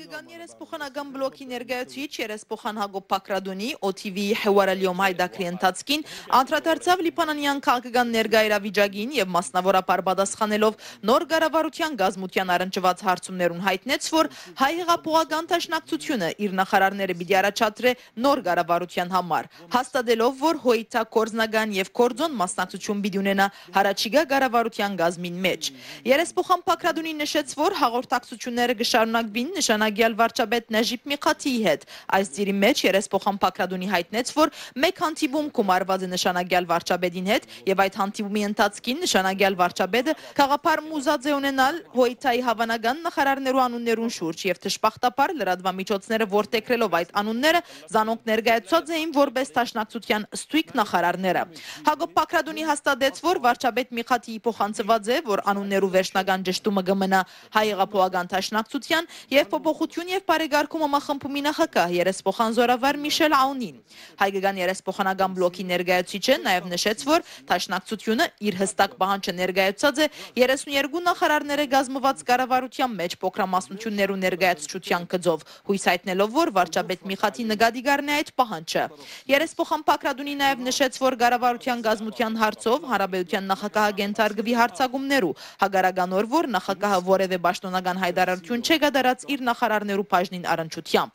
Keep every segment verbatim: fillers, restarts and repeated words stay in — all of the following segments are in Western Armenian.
Կան երեսփոխանական բլոկի ներկայացուցիչ երեսփոխան Հակոբ Բագրատունի, օ թի վի Հեուարալիոմ հայտակրի ընթացքին անդրադարձաւ լիբանանեան քաղաքական ներկայ իրավիճակին եւ մասնաւորաբար պատասխանելով նոր կառավարութեան կազմութեան առնչուած հարցումներուն, յայտնեց, որ Հայ հեղափոխական դաշնակցությունը իր նախարարները պիտի առաջադրէ նոր կառավարութեան համար, հաստատելով, որ Հոյթա կորզնական եւ կորձոն մասնակցություն պիտի ունենայ յառաջիկայ կառավարութեան կազմին մէջ։ Երեսփոխան Բագրատունի նշեց, որ հաղորդակցությունները կը շարունակուին նշանագեալ վարչապետ Նեժիբ Միղաթիի հետ։ Այս ծիրի մէջ երեսփոխան Բագրատունի յայտնեց, որ մէկ հանդիպում գումարուած է նշանագեալ վարչապետին հետ եւ այդ հանդիպումի ընթացքին նշանագեալ վարչապետը գաղափար մուզած է ունենալ Հոյթայի հաւանական նախարարներու անուններուն շուրջ եւ դժբախտաբար լրատուամիջոցները որդեգրելով այդ անունները, զանոնք ներկայացուցած էին որպէս դաշնակցութեան ստույգ նախարարները։ Հակոբ Բագրատունի հաստատեց, որ վարչապետ Միղաթիի փոխանցուած է, որ անուններու վերջնական ճշտումը կը մնայ Հայ հեղափոխական դաշնակցութեան եւ փոփոխություն եւ բարեկարգում համախմբումի նախագահ երեսփոխան զօրավար Միշել Աունին։ Հայկական երեսփոխանական բլոկի ներկայացուցիչը նաեւ նշեց, որ դաշնակցությունը իր հստակ պահանջը ներկայացուցած է երեսուն երկու նախարարները կազմուած կառավարութեան մէջ փոքրամասնություններու ներկայացուցչութեան գծով, յոյս յայտնելով, որ վարչապետ Միղաթի նկատի կ'առնէ այդ պահանջը։ Երեսփոխան Բագրատունի նաեւ նշեց, որ կառավարութեան կազմութեան հարցով հանրապետութեան նախագահը կ'ենթարկուի հարցակումներու, հակառական օր, որ նախագահը որեւէ պաշտօնական յայտարարութիւն չէ կատարած իր նախարարներու բաժնին առնչութեամբ։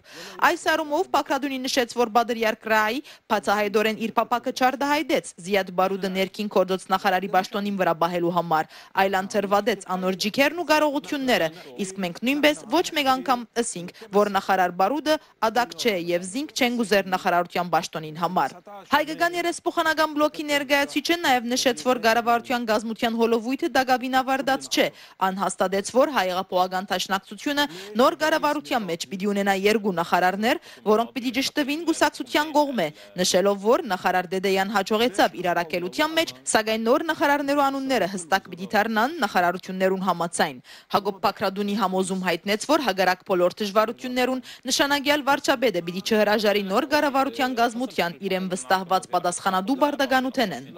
Այս առումով Բագրատունի նշեց, որ Բադր Յարկրայի բացայայտօրէն իր փափաքը չարտայայտեց Զիադ Բարուդը ներքին գործոց նախարարի պաշտօնին վրայ պահելու համար, այլ անդրուատեց անոր ջիքերն ու կարողութիւնները, իսկ մենք նոյնպէս ոչ մէկ անգամ ըսինք, որ նախարար Բարուդը ատակ չէ եւ զինք չենք ուզեր նախարարութեան պաշտօնին համար։ Հայկական երեսփոխանական բլոկի ներկայացուցիչը նաեւ նշեց, որ կառավարութեան կազմութեան հոլովոյթը տակաւին աւարտած չէ։ Ան հաստատեց, որ Հայ հեղափոխական դաշնակցությունը նոր կառավարութեան մէջ պիտի ունենայ երկու նախարարներ, որոնք պիտի ճշտուին կուսակցութեան կողմէ, նշելով, որ նախարար Տետեան յաջողեցաւ իր առաքելութեան մէջ, սակայն նոր նախարարներու անունները հստակ պիտի դառնան նախարարութիւններուն համաձայն։ Հակոբ Բագրատունի համոզում յայտնեց, որ հակառակ բոլոր դժուարութիւններուն նշանագեալ վարչապետը պիտի չհրաժարի նոր կառավարութեան կազմութեան իրեն վստահուած պատասխանատու պարտականութենէն։